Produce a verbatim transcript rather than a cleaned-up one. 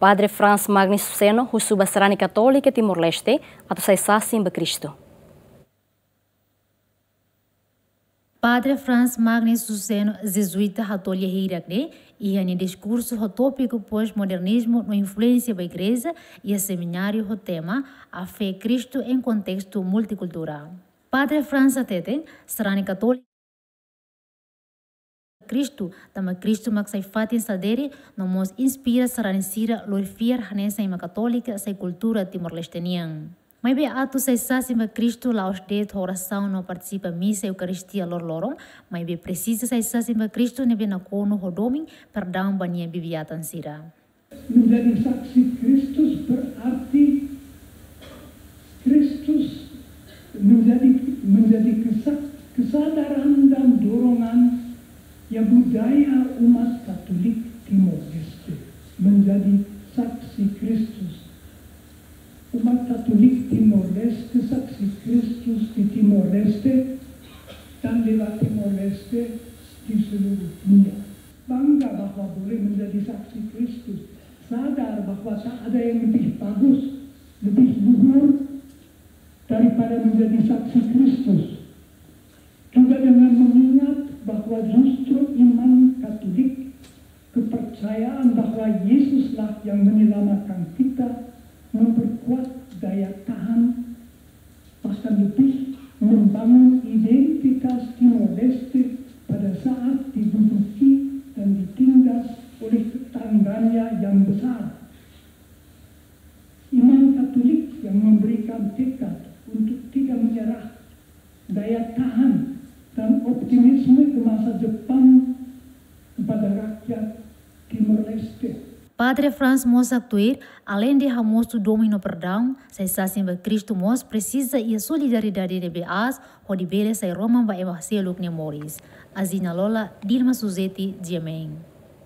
Padre Franz Magnus Suseno husu ba sarani katólika Timor-Leste atu sai sasin ba Kristu. Padre Franz Magnus Suseno, Jezuíta, hato'o lia hirak ne'e iha nia diskursu ho tópiku pós-modernizmu no influénsia ba Igreja, iha semináriu ho tema A Fé Kristu em Contexto Multicultural. Padre Franz hateten, sarani katólika Kristu, tanba Kristu mak sai fatin sadere, no mós inspira sarani sira lori fiar hanesan ema katólika sai kultura Timor-Leste nian. Maibé atu sai sasin ba Kristu la'ós de'it ho orasaun no partisipa misa Eukaristia loroloron, maibé presiza sai sasin ba Kristu ne'ebé nakonu ho domin, perdaun ba nia bibi-atan sira. Menjadi saksi Kristus berarti Kristus menjadi, menjadi kesa-, kesadaran dan dorongan ya budaya umat Katolik Timor-Leste menjadi saksi Kristus. Umat Katolik Timor-Leste saksi Kristus di Timor-Leste dan lewat Timor-Leste di seluruh dunia. Bangga bahwa boleh menjadi saksi Kristus, sadar bahwa tak ada yang lebih bagus, lebih luhur daripada menjadi saksi Kristus. Juga dengan mengingat bahwa justru iman Katolik, kepercayaan bahwa Yesuslah yang menyelamatkan kita, memperkuat daya tahan, bahkan lebih membangun identitas Timor-Leste pada saat diduduki dan ditindas oleh tetangganya yang besar. Iman Katolik yang memberikan tekad untuk tidak menyerah, daya tahan, dan optimisme ke masa depan kepada rakyat Timor-Leste. Padre Franz mós haktuir, aleinde hamosu domin no perdaun, sai sasin ba Kristu mós presiza iha solidariedade ne'ebé aas, hodi bele sai roman ba ema seluk nia moris. Azina Lola, Dilma Suzeti, G M N.